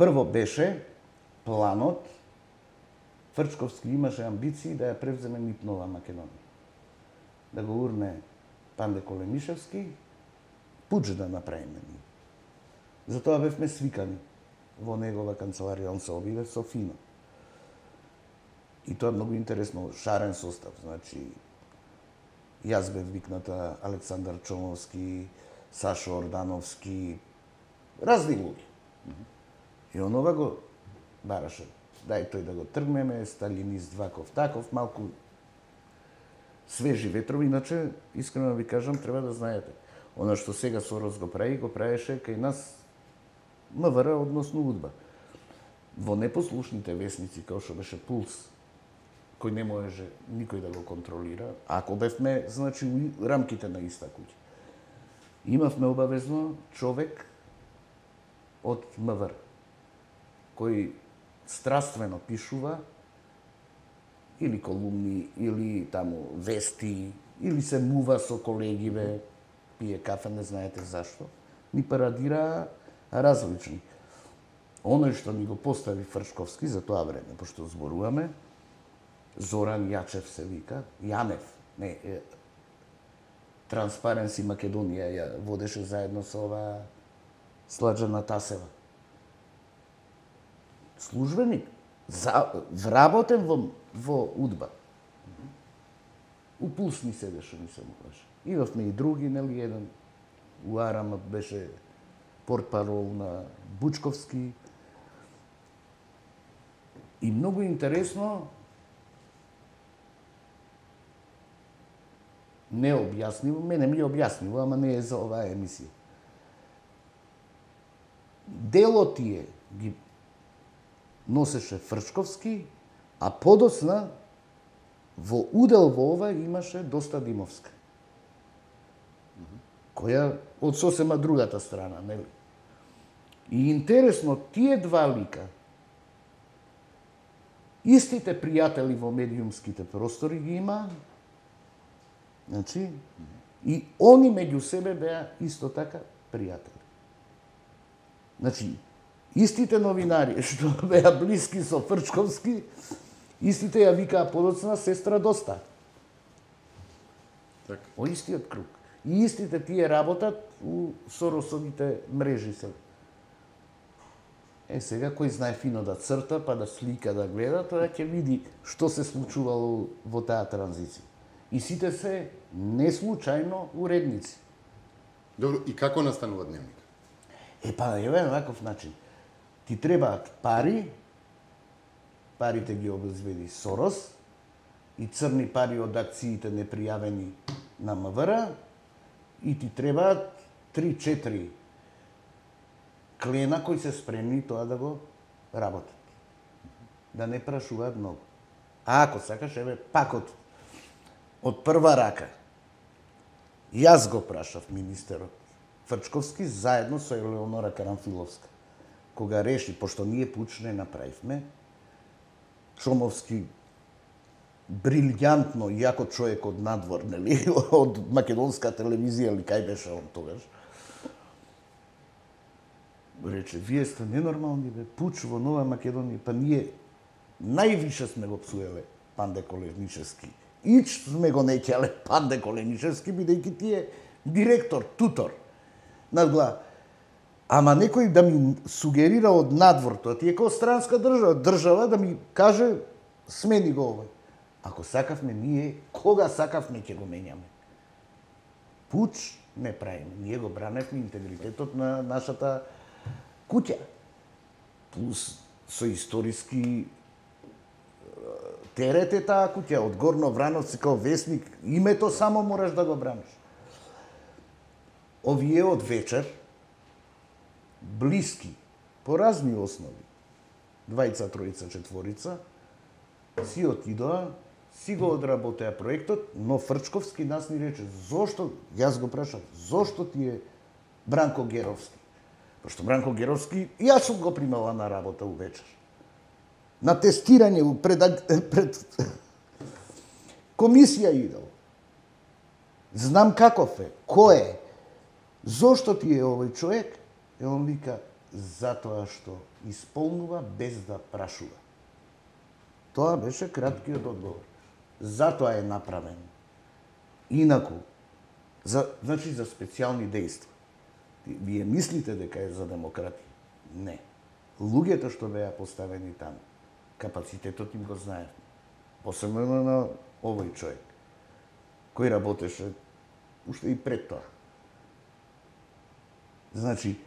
Прво беше планот, Фрчковски имаше амбиции да ја превземе НИП Нова Македонија. Да го урне Панде Колемишевски, пуч да направиме ние. Затоа бевме свикани во негова канцеларија, он се обиде со фино. И тоа е многу интересно, шарен состав, значи јас бев викната, Александар Чомовски, Сашо Ордановски, разни луѓе. И онова го бараше. Дај тој да го тргнеме, сталинист ваков таков, малку свежи ветрови, иначе, искрено ви кажам, треба да знаете. Она што сега Сорос го правеше кај нас МВР, односно УДБА. Во непослушните весници, како што беше Пулс, кој не можеше никој да го контролира, ако бевме, значи, у рамките на иста куќа. Имавме обавезно човек од МВР, кој страствено пишува или колумни, или таму вести, или се мува со колегиве, пие кафе, не знаете зашто, ни парадира различни. Оној што ни го постави Фрчковски за тоа време, пошто зборуваме, Зоран Јачев се вика, Јанев, не, Транспаренси Македонија ја водеше заедно со ова Сладжана Тасева. Службеник, вработен во УДБА. У Пулс ни седеше, не се му каже. Имавме и други, нели, еден у Арам беше портпарол на Бучковски. И многу интересно, не објаснило, мене ми објаснило, ама не е за оваа емисија. Дело тие ги носеше Фрчковски, а подоцна во удел во ова имаше Доста Димовска, која од сосема другата страна, нели? И интересно, тие два лика, истите пријатели во медиумските простори ги има, значи, и они меѓу себе беа исто така пријатели. Значи, истите новинари што беа блиски со Фрчковски, истите ја викаа подоцна сестра Доста. Так. О истиот круг. И истите тие работат у Соросовите мрежи се. Сега кој знае фино да црта, па да слика, да гледа, тоа ќе види што се случувало во таа транзиција. И сите се неслучајно уредници. Добро, и како настанува дневник? Еве на ваков начин. Ти требаат пари, парите ги обезбеди Сорос, и црни пари од акциите непријавени на МВР, и ти требаат 3-4 клена кои се спремни тоа да го работат. Да не прашуваат многу. А ако сакаш, еве, пак од прва рака. Јас го прашав министерот Фрчковски заедно со Елеонора Карамфиловска. Кога реши, пошто ние пуч не направивме, Чомовски брилјантно, јако човек од надвор, нели, од македонска телевизија, или кај беше он тогаш, рече, вие сте ненормални, бе, пуч во Нова Македонија, па ние највише сме го псуеле Панде Колемишевски. Ич сме го неќале Панде Колемишевски, бидејќи ти е директор, тутор. Надгла, ама некој да ми сугерира од надвор, тоа ти е како странска држава да ми каже смени го овој. Ако сакавме ние, кога сакавме ќе го менјаме. Пуч не правиме, ние го браневме интегритетот на нашата куќа. Плюс со историски терет е таа куќа, од Горно Врановци као весник, името само мораш да го браниш. Овие од вечер, блиски, по разни основи, 2, 3, 4, си отидоа, си го одработеа проектот, но Фрчковски нас ни рече, зошто, јас го прашав, зошто ти е Бранко Геровски? Пошто Бранко Геровски, јас сум го примала на работа увечер. На тестирање пред комисија идел. Знам каков е, кој е, зошто ти е овој човек? И он вика, затоа што исполнува без да прашува. Тоа беше краткиот одговор. Затоа е направен. Инаку, значи за специјални дејства. Вие мислите дека е за демократи? Не. Луѓето што беа поставени таму, капацитетот им го знаев. Посебно на овој човек, кој работеше уште и пред тоа. Значи,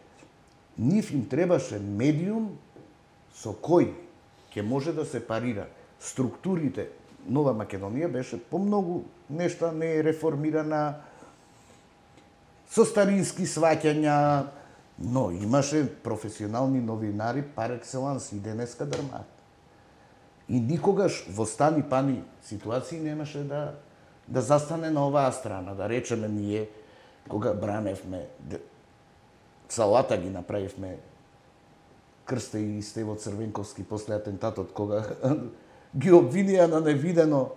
нив им требаше медиум со кој ќе може да се парира структурите. Нова Македонија беше по многу нешта не е реформирана, со старински сваќања, но имаше професионални новинари пар екселанс и денеска дрмаат. И никогаш во стани пани ситуации немаше да застане на оваа страна, да речеме ние кога браневме салата ги направивме Крсте и Стево Црвенковски после атентатот, кога ги обвинија на невидено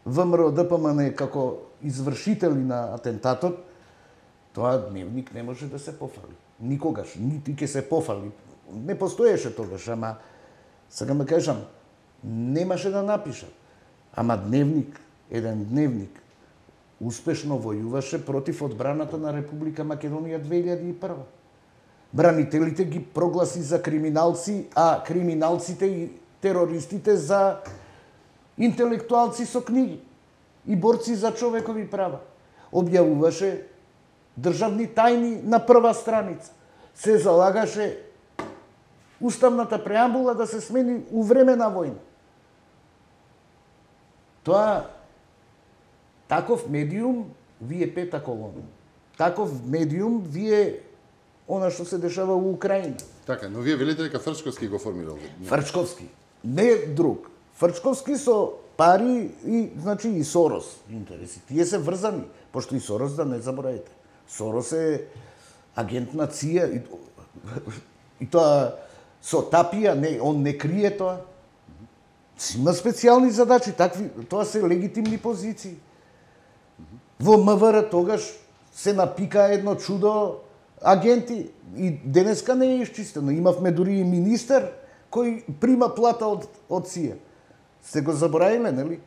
ВМРО ДПМН како извршители на атентатот, тоа Дневник не може да се пофали. Никогаш, нити ќе се пофали. Не постоеше тогаш, ама сега ме кажам, немаше да напишат. Ама Дневник, еден Дневник, успешно војуваше против одбраната на Република Македонија 2001. Бранителите ги прогласи за криминалци, а криминалците и терористите за интелектуалци со книги и борци за човекови права. Објавуваше државни тајни на прва страница. Се залагаше уставната преамбула да се смени у време на војна. Тоа, таков медиум вие пета колона. Таков медиум вие она што се дешава во Украина. Така, но вие велите дека Фрчковски го формирал. Фрчковски, не друг. Фрчковски со пари и значи и Сорос интереси. Тие се врзани, пошто и Сорос, да не заборавите. Сорос е агент на ЦИА и тоа со тапија, не, он не крие тоа. Има специјални задачи, такви, тоа се легитимни позиции. Во МВР тогаш се напика едно чудо агенти и денеска не е исчистено. Имавме дури и министер кој прима плата од ЦИА. Сте го заборавиле, нели?